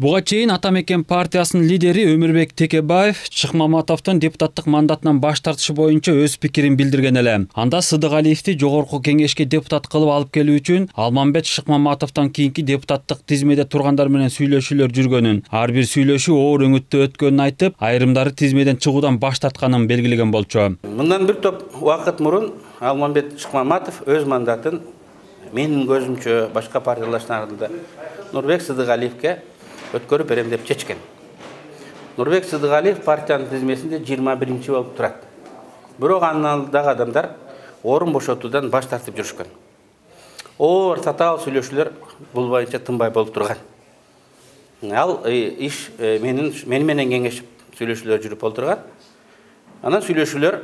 Буга чейин Ата мекен партиясынын лидери Өмүрбек Текебаев Шыкмаматовдун депутаттык мандатынан баш тартышы боюнча өз пикирин билдирген эле. Анда Сыдыгалиевди жогорку кеңешке депутат кылып алып келүү үчүн Алмамбет Шыкмаматовдон кийинки депутаттык тизмеде тургандар менен сүйлөшүүлөр жүргөнүн, ар бир сүйлөшүү оор өңүттө өткөнүн айтып, айрымдары тизмеден чыгуудан баш тартканын белгилеген болчу. Мындан бир топ убакыт мурун Алмамбет Шыкмаматов өз мандатын менин көзүмчө башка партиялаштардын Нурбек Сыдыгалиевке өткөрүп берем деп чечкен. Нурбек Сыдыгалиев партиянын тизмесинде 21-чи болуп турат. Бирок анын алдындагы адамдар орун бошотуудан баш тартып жүрүшкөн. Оор татаал сүйлөшүүлөр бул боюнча тынбай болуп турган. Ал иш мени менен кеңешип сүйлөшүүлөр жүрүп олтурган. Анан сүйлөшүүлөр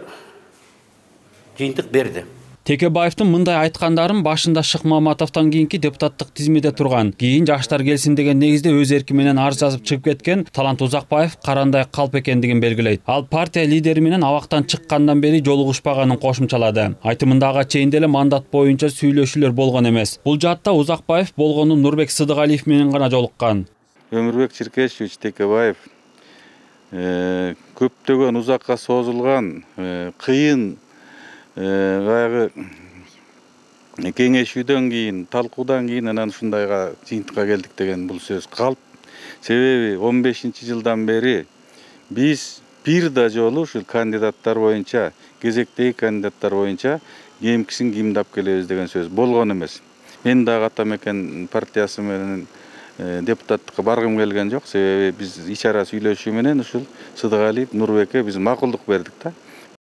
жыйынтык берди. Текебаевдин мындай айткандарын башында Шыкмаматовдон кийинки депутаттык тизмеде турган, кийин жаштар келсин деген негизде өз эрки менен арыз жазып чыгып кеткен Талант Узакбаев карандай калп экендигин белгилейт. Ал партия лидери менен абактан чыккандан бери жолугушпаганын кошумчалады. Айтымында ага чейин деле мандат боюнча сүйлөшүүлөр болгон эмес. Бул жаатта Узакбаев болгону Нурбек Сыдыгалиев менен гана жолуккан. Өмүрбек Черкешевич Текебаев көптөгөн узакка созулган кыйын баягы кеңешүүдөн кийин, талкуудан кийин анан ушундайга жыйынтыкка келдик деген бул сөз калп. Себеби 15-жылдан бери биз бир да жолу ушул кандидаттар боюнча, кезектеги кандидаттар боюнча кийинкисин кимдап келебиз деген сөз болгон эмес. Мен дагы Ата мекен партиясы менен депутаттыкка баргым келген жок. Себеби биз ич ара сүйлөшүү менен ушул Сыдыгалиев Нурбекке биз макулдук бердик да.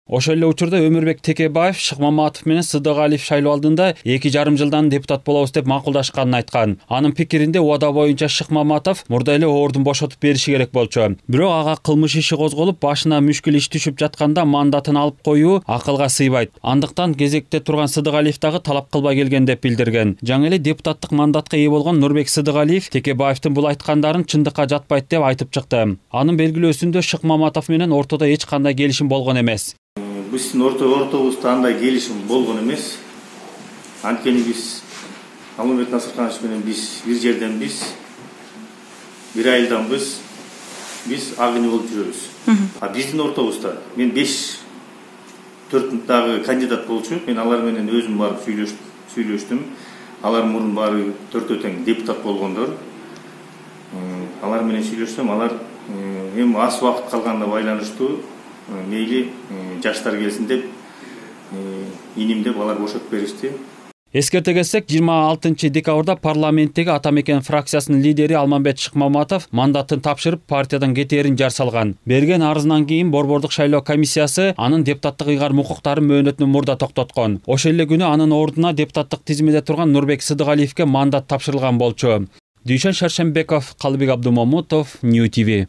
Ошол эле учурда Өмүрбек Текебаев Шыкмаматов менен Сыдыгалиев шайлоо алдында 2,5 жылдан депутат болобуз деп макулдашканын айткан. Анын пикиринде убада боюнча Шыкмаматов мурда эле ордун бошотуп бериши керек болчу. Бирок ага кылмыш иши козголуп, башына мүшкүл иш түшүп жатканда мандатын алып коюу акылга сыйбайт. Андыктан кезекте турган Сыдыгалиев дагы талап кылбай келген деп билдирген. Жаңы эле депутаттык мандатка ээ болгон Нурбек Сыдыгалиев Текебаевдин бул айткандарын чындыкка жатпайт деп айтып чыкты. Анын белгилөөсүндө Шыкмаматов менен ортодо эч кандай келишим болгон эмес. Биздин ортобузда андай келишим болгон эмес. Анткени биз Алмамбет Насырканович менен биз бир жерденбиз, бир айылданбыз, биз агыны болуп жүрөбүз. А биздин ортобузда мен 5-4 дагы кандидат болчу. Мен алар менен өзүм барып сүйлөштүм. Алар мурун баары төртөө тең депутат болгондор. Алар менен сүйлөшсөм, алар эми аз убакыт калганына байланыштуу мейли жаштар келсин деп иним деп алар бошотуп беришти. Эскерте кетсек, 26 декабрда парламенттеги Ата мекен фракциясынын лидери Алмамбет Шыкмаматов мандатын тапшырып партиядан кетээрин жар салган. Берген арызынан кийин Борбордук шайлоо комиссиясы анын депутаттык ыйгарым укуктарын мөөнөтүнөн мурда токтоткон. Ошол эле күнү анын ордуна депутаттык тизмеде турган Нурбек Сыдыгалиевке мандат тапшырылган болчу. Дүйшөн Шаршембеков, Калыбек Абдумамутов, Нью ТВ.